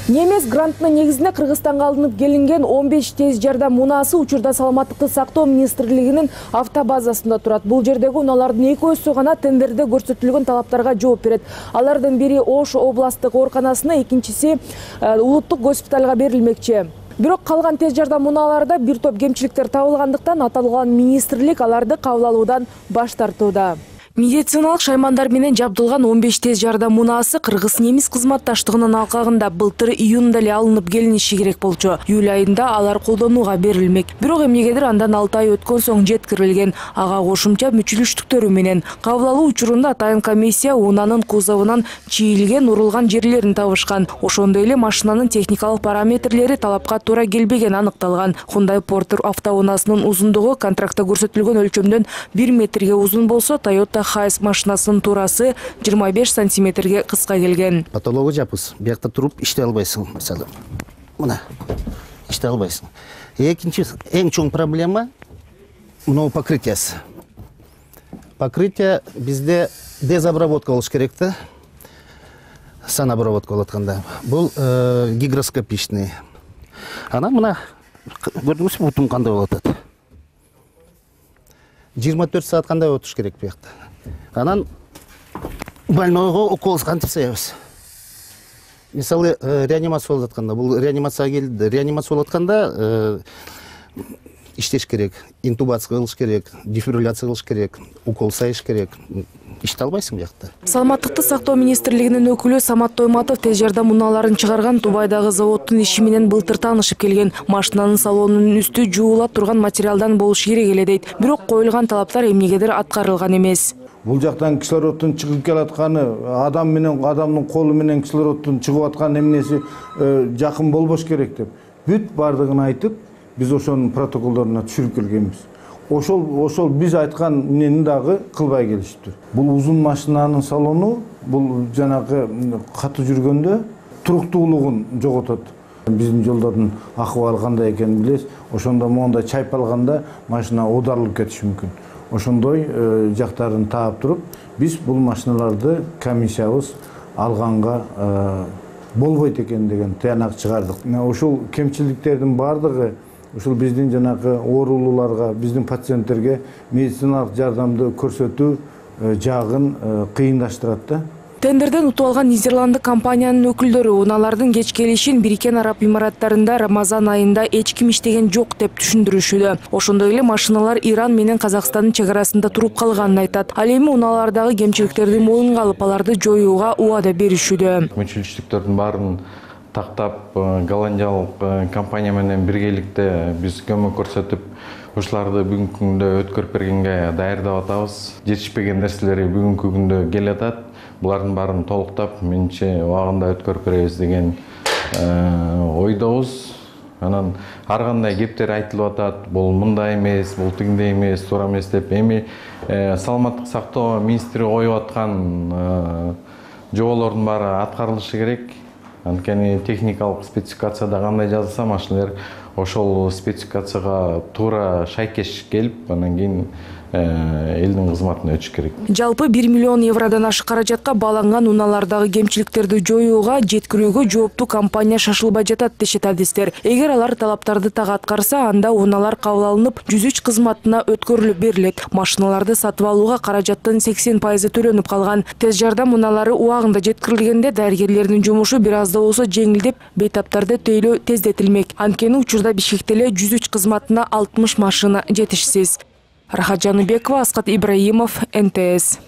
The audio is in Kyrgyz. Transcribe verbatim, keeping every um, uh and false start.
Немес грантынын негизинде Кыргызстанга алынып келинген он беш тез жардам унаасы учурда Саламаттыкты сактоо министрлигинин автобазасында турат. Бул жердеги унаалардын экөөсү гана тендерде көрсөтүлгөн талаптарга жооп берет. Алардын бири Ош областтык ооруканасына, экинчиси улуттук госпиталга берилмекчи. Бирок калган тез жардам унааларда бир топ кемчиликтер табылгандыктан аталган министрлик аларды кабыл алуудан баш тартууда. Медициналык шаймандар менен жабдылган он беш тез жардам унаасы кыргыз-немис кызматташтыгынын алкагында былтыр июнда эле алынып келиниши керек болчу. Июль айында алар колдонууга берилмек. Бирок эмнегедир андан алты ай өткөн соң жеткирилген. Ага кошумча мүчүлүштүктөрү менен кабыл алуу учурунда атайын комиссия унаанын кузовунан чийилген, урулган жерлерин табышкан. Ошондой эле машинанын техникалык параметрлери талапка туура келбеген аныкталган. Hyundai Porter автоунаасынын узундугу контрактта көрсөтүлгөн өлчөмдөн бир метрге узун болсо, Toyota Хайс машинасынын туурасы жыйырма беш сантиметрге кыска келген. Патология жапыз. Биякта туруп иштей албайсың, мисалы. Мына иштей албайсың. Экинчи эң чоң проблема мына покрытиясы. Покрытие bizde дезобработка болуш керек да. Санобработка болуп атканда. Бул гигроскопичный. Ана мына көрдүңүзбү, бутум кандай болуп атат. жыйырма төрт саат кандай отуш керек биякта. Анан больнойго укол кантипсебиз. Мисалы реанимация болуп атканда, бул реанимацияга келди. Реанимация болуп атканда иштеш керек, интубация кылыш керек, дефибрилляция кылыш керек, укол сайыш керек. Иште албайсың биякта. Саламаттыкты сактоо министрлигинин өкүлү Самат Тойматов тез жардам унааларын чыгарган Дубайдагы заводдун иши менен былтыр таанышып келген. Машинанын салонунун үстү жуулап турган материалдан болуш керек эле дейт. Бирок коюлган талаптар эмнегедир аткарылган эмес. Бул жактан кислороддун чыгып келатканы, адам менен адамдын колу менен кислороддун чыгып аткан эмнеси жакын болбош керек деп. Бүт бардыгын айтып, биз ошонун протоколдоруна түшүрүп келгенбиз. Ошол ошол биз айткан эмнени дагы кылбай келишиптир. Бул узун машинанын салону, бул жанагы катуу жүргөндө туруктуулугун жоготот. Биздин жолдордун акыбалы кандай экенин билесиз. Ошондо моундай чайпалганда машина оодарылып кетиши мүмкүн. Ошондой жактарын таап туруп, биз бул машиналарды комиссиябыз алганга болбойт экен деген таянак чыгардык. Ошол кемчиликтердин бардыгы ушул биздин жанагы оорулууларга, биздин пациенттерге медициналык жардамды көрсөтүү жагын кыйындаштырат да. Тендерден утуп алган Нидерланддык компаниянын өкүлдөрү унаалардын кеч келишин Бириккен Араб Имараттарында Рамазан айында эч ким иштеген жок деп түшүндүрүшүүдө. Ошондой эле машиналар Иран менен Казакстандын чек арасында туруп калганын айтат. Ал эми унаалардагы кемчиликтерди моюнга алып, аларды жоюуга убада беришүүдө. Мүчүлүштүктөрдүн баарын тактап, голландиялык компания менен биргеликте биз көмөк көрсөтүп, ушуларды бүгүнкү күндө өткөрүп бергенге даярдап атабыз. Жетишпеген нерселери бүгүнкү күндө келатат. Булардын баарын толуктап, менче убагында өткөрүп беребиз деген ойдобуз. Анан ар кандай кептер айтылып атат. Бул мындай эмес, бул тигиндей эмес, туура эмес деп. Эми саламаттык сактоо министри коюп аткан жоболордун баары аткарылышы керек. Анткени техникалык спецификацияда кандай жазылса, машиналар ошол спецификацияга туура шайкеш келип, анан кийин элдин кызматына өтүш керек. Жалпы бир миллион евродон ашык каражатка бааланган унаалардагы кемчиликтерди жоюуга, жеткирүүгө жооптуу компания шашылбай жатат дешет адистер. Эгер алар талаптарды так аткарса, анда унаалар кабыл алынып, жүз үч кызматына өткөрүлүп берилет. Машиналарды сатып алууга каражаттын сексен пайызы төлөнүп калган. Тез жардам унаалары убагында жеткирилгенде дарыгерлердин жумушу бир аз да болсо жеңилдеп, бейтаптарды тейлөө тездетилмек. Анткени учурда Бишкекте эле жүз үч кызматына алтымыш машина жетишсиз. Рахат Жаныбекова, Аскат Ибраимов, эн тэ эс.